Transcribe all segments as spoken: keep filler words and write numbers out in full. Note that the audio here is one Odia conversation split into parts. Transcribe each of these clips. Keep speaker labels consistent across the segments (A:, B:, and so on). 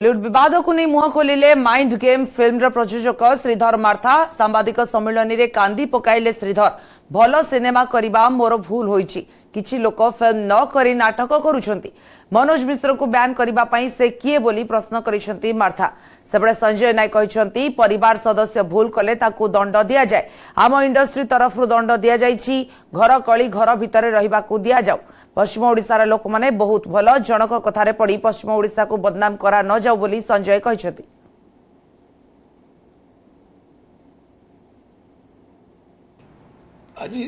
A: ବଲିଉଡ ବିବାଦକୁ ନେଇ ମୁହଁ ଖୋଲିଲେ ମାଇଣ୍ଡ ଗେମ୍ ଫିଲ୍ମର ପ୍ରଯୋଜକ ଶ୍ରୀଧର ମାର୍ଥା। ସାମ୍ବାଦିକ ସମ୍ମିଳନୀରେ କାନ୍ଦି ପକାଇଲେ ଶ୍ରୀଧର। ଭଲ ସିନେମା କରିବା ମୋର ଭୁଲ ହୋଇଛି, କିଛି ଲୋକ ଫିଲ୍ମ ନ କରି ନାଟକ କରୁଛନ୍ତି। ମନୋଜ ମିଶ୍ରଙ୍କୁ ବ୍ୟାନ୍ କରିବା ପାଇଁ ସେ କିଏ ବୋଲି ପ୍ରଶ୍ନ କରିଛନ୍ତି ମାର୍ଥା। ସେପଟେ ସଞ୍ଜୟ ନାୟକ କହିଛନ୍ତି, ପରିବାର ସଦସ୍ୟ ଭୁଲ କଲେ ତାକୁ ଦଣ୍ଡ ଦିଆଯାଏ। ଆମ ଇଣ୍ଡଷ୍ଟ୍ରି ତରଫରୁ ଦଣ୍ଡ ଦିଆଯାଇଛି। ଘର କଳି ଘର ଭିତରେ ରହିବାକୁ ଦିଆଯାଉ। ପଶ୍ଚିମ ଓଡ଼ିଶାର ଲୋକମାନେ ବହୁତ ଭଲ, ଜଣକ କଥାରେ ପଡ଼ି ପଶ୍ଚିମ ଓଡ଼ିଶାକୁ ବଦନାମ କରା ନ ଯାଉ ବୋଲି ସଞ୍ଜୟ କହିଛନ୍ତି।
B: ଆଜି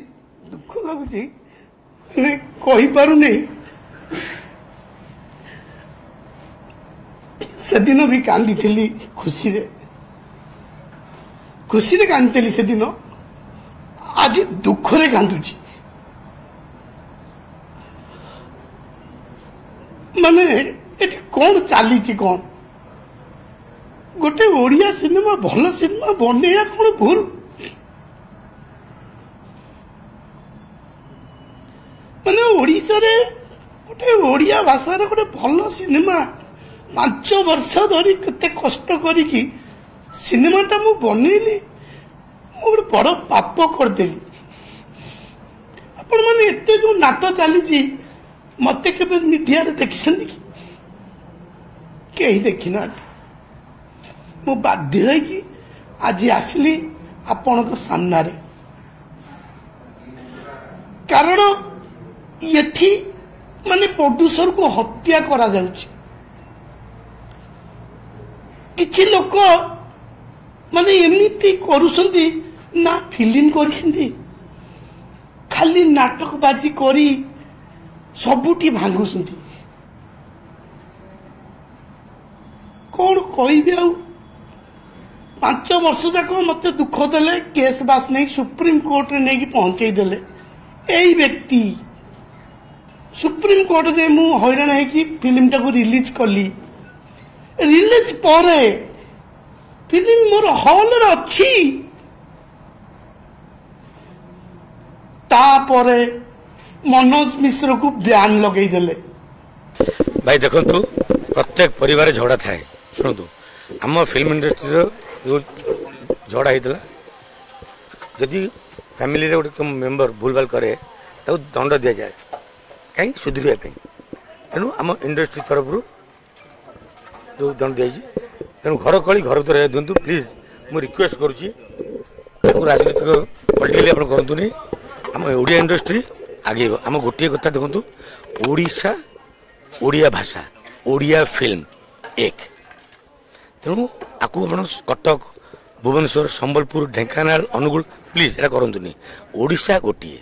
B: ଦୁଃଖ ଲାଗୁଛି, ମାନେ କହିପାରୁନି। ସେଦିନ ବି କାନ୍ଦିଥିଲି ଖୁସିରେ, ଖୁସିରେ କାନ୍ଦିଥିଲି ସେଦିନ, ଆଜି ଦୁଃଖରେ କାନ୍ଦୁଛି। ମାନେ ଏଠି କଣ ଚାଲିଛି? କଣ ଗୋଟେ ଓଡ଼ିଆ ସିନେମା, ଭଲ ସିନେମା ବନେଇବା କଣ ଭୁଲ? ମାନେ ଓଡ଼ିଶାରେ ଗୋଟେ ଓଡ଼ିଆ ଭାଷାରେ ଗୋଟେ ଭଲ ସିନେମା, ପାଞ୍ଚ ବର୍ଷ ଧରି କେତେ କଷ୍ଟ କରିକି ସିନେମାଟା ମୁଁ ବନେଇଲି, ମୁଁ ଗୋଟେ ବଡ଼ ପାପ କରିଦେଲି। ଆପଣମାନେ ଏତେ ଯୋଉ ନାଟ ଚାଲିଛି, ମତେ କେବେ ମିଡିଆରେ ଦେଖିଛନ୍ତି କି? କେହି ଦେଖିନାହାନ୍ତି। ମୁଁ ବାଧ୍ୟ ହେଇକି ଆଜି ଆସିଲି ଆପଣଙ୍କ ସାମ୍ନାରେ, କାରଣ ଏଠି ମାନେ ପ୍ରଡ୍ୟୁସରକୁ ହତ୍ୟା କରାଯାଉଛି। କିଛି ଲୋକ ମାନେ ଏମିତି କରୁଛନ୍ତି ନା, ଫିଲ୍ମ କରିଛନ୍ତି, ଖାଲି ନାଟକବାଜି କରି ସବୁଠି ଭାଙ୍ଗୁଛନ୍ତି। କଣ କହିବି ଆଉ? ପାଞ୍ଚ ବର୍ଷ ଯାକ ମତେ ଦୁଃଖ ଦେଲେ, କେସ୍ ବାସ୍ ନେଇ ସୁପ୍ରିମ କୋର୍ଟରେ ନେଇକି ପହଞ୍ଚେଇ ଦେଲେ ଏଇ ବ୍ୟକ୍ତି। ସୁପ୍ରିମ କୋର୍ଟ ଯେ ମୁଁ ହଇରାଣ ହେଇକି ଫିଲ୍ମଟାକୁ ରିଲିଜ କଲି। ରିଲିଜ ପରେ ଫିଲ୍ମ ମୋର ହଲରେ ଅଛି, ତାପରେ ମନୋଜ ମିଶ୍ରକୁ ବ୍ୟାନ୍ ଲଗେଇଦେଲେ।
C: ଭାଇ ଦେଖନ୍ତୁ, ପ୍ରତ୍ୟେକ ପରିବାରରେ ଝଗଡ଼ା ଥାଏ। ଶୁଣନ୍ତୁ, ଆମ ଫିଲ୍ମ ଇଣ୍ଡଷ୍ଟ୍ରିର ଯେଉଁ ଝଗଡ଼ା ହେଇଥିଲା, ଯଦି ଫ୍ୟାମିଲିରେ ଗୋଟେ ମେମ୍ବର ଭୁଲଭାଲ କରେ ତାକୁ ଦଣ୍ଡ ଦିଆଯାଏ, କାହିଁକି? ସୁଧରିବା ପାଇଁ। ତେଣୁ ଆମ ଇଣ୍ଡଷ୍ଟ୍ରି ତରଫରୁ ଯେଉଁ ଦଣ୍ଡ ଦିଆଯାଇଛି, ତେଣୁ ଘର କଳି ଘର ଭିତରେ ଦିଅନ୍ତୁ ପ୍ଲିଜ୍। ମୁଁ ରିକ୍ୱେଷ୍ଟ କରୁଛି, ତାକୁ ରାଜନୈତିକ ପଲିଟିକାଲି ଆପଣ କରନ୍ତୁନି। ଆମ ଓଡ଼ିଆ ଇଣ୍ଡଷ୍ଟ୍ରି ଆଗେଇବ। ଆମ ଗୋଟିଏ କଥା ଦେଖନ୍ତୁ, ଓଡ଼ିଶା, ଓଡ଼ିଆ ଭାଷା, ଓଡ଼ିଆ ଫିଲ୍ମ ଏକ। ତେଣୁ ଆକୁ ଆପଣ କଟକ, ଭୁବନେଶ୍ୱର, ସମ୍ବଲପୁର, ଢେଙ୍କାନାଳ, ଅନୁଗୁଳ, ପ୍ଲିଜ୍ ଏଇଟା କରନ୍ତୁନି। ଓଡ଼ିଶା ଗୋଟିଏ।